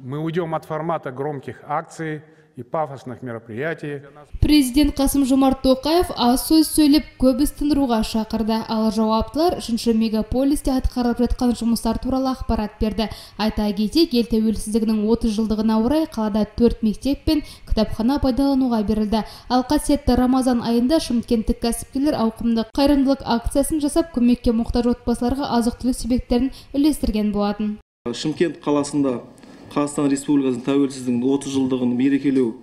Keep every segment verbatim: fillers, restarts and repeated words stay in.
Мы уйдем от формата громких акций и пафосных мероприятий. Президент Қасым-Жомарт Тоқаев аз сөз сөйлеп, көп іс тындыруға шақырды. Ал жауаптылар үшінші мегаполисте атқарылып жатқан жұмыстар туралы ақпарат берді. Айта кетейік, ел тәуелсіздігінің отыз жылдығына орай қалада төрт мектеп пен кітапхана пайдалануға берілді. Ал қасиетті Рамазан айында шымкенттік кәсіпкерлер ауқымды қайырымдылық акциясын жасап, көмекке мұқтаж отбасыларға азық-түлік себеттерін үлестірген болатын. Шымкент қаласында Қазақстан Республикасының тәуелсіздігінің отыз жылдығын мерекелеу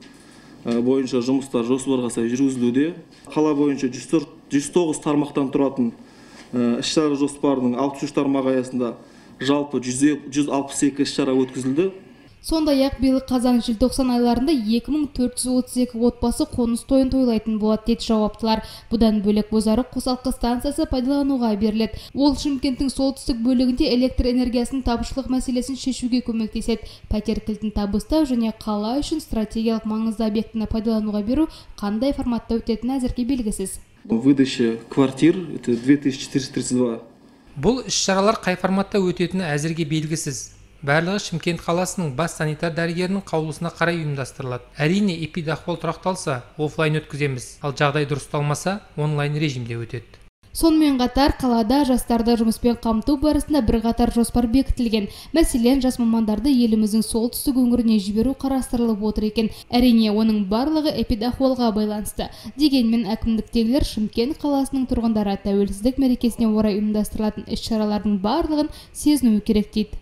бойынша жұмыстар жоспарға сай жүргізілуде. Қала бойынша жүз тоғыз тармақтан тұратын іс-шара жоспарының алпыс үш тармағы аясында жалпы жүз алпыс екі іс-шара өткізілді. Сондай-ақ биыл қазан-желтоқсан айларында екі мың төрт жүз отыз екі отбасы қоныс тойын тойлайтын болады дейді жауаптылар. Бұдан бөлек Бозарық қосалқы станциясы пайдалануға беріледі. Ол Шымкенттің солтүстік бөлігінде электр энергиясының тапшылық мәселесін шешуге көмектеседі. Пәтер кілтін табыстау және қала үшін стратегиялық маңызды объектіні пайдалануға беру қандай форматта өтетіні әзірге белгісіз. Выдача квартир это две тысячи четыреста тридцать два. Бұл іс-шаралар қай форматта өтетіні әзірге белгісіз. Барлығы Шымкент қаласының бас санитар дәрігерінің қаулысына қарай ұйымдастырылады. Әрине, эпидахуал тұрақталса, офлайн өткіземіз, ал жағдай дұрысталмаса, онлайн режимде өтеді. Сонымен қатар қалада жастарды жұмыспен қамту барысында бірқатар жоспар бекітілген. Мәселен, жас мамандарды еліміздің солтүстік өңіріне жіберу қарастырылып отыр екен. Әрине, оның барлығы эпидахуалға байланысты. Дегенмен әкімдіктегілер Шымкент қаласының тұрғындары тәуелсіздік мерекесіне орай ұйымдастырылатын іс-шаралардың барлығын сезінуі керек дейді.